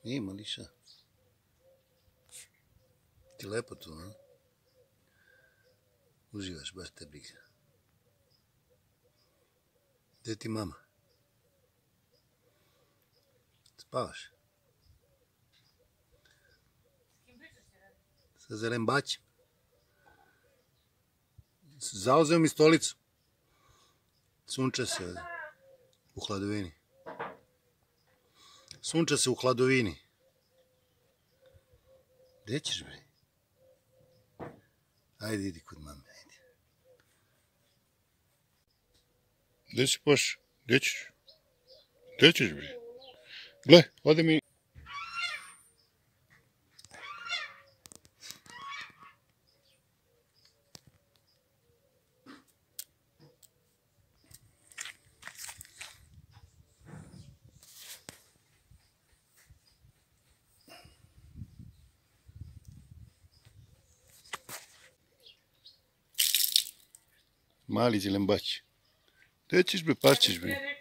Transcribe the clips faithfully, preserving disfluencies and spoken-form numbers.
Ima liša. Ti lepo tu, a? Uživaš, baš te briga. Gdje ti mama? Spavaš? Sa Zelembaćem. Zauzeo mi stolicu. Sunča se ovdje. U hladovini. Sunča se u hladovini. Gdje ćeš, bre? Ajde, idi kod mame, ajde. Gdje si poš? Gdje ćeš? Gdje ćeš, bre? Gle, ode mi... Mali Zelembać. Gdje ćeš, bre, pašćeš, bre?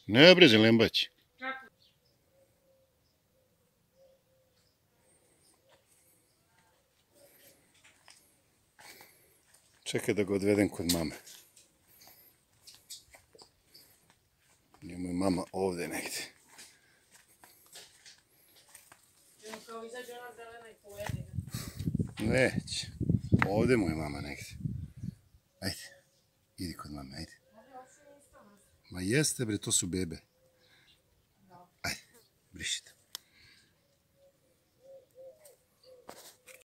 Ne, bre, Zelembać. Čekaj da ga odvedem kod mame. Njemu je mama ovdje negdje. Već. Ovdje mu je mama negdje. Ajde. Idi kod mame, ajde. Ma jeste, bre, to su bebe. Ajde, brišite.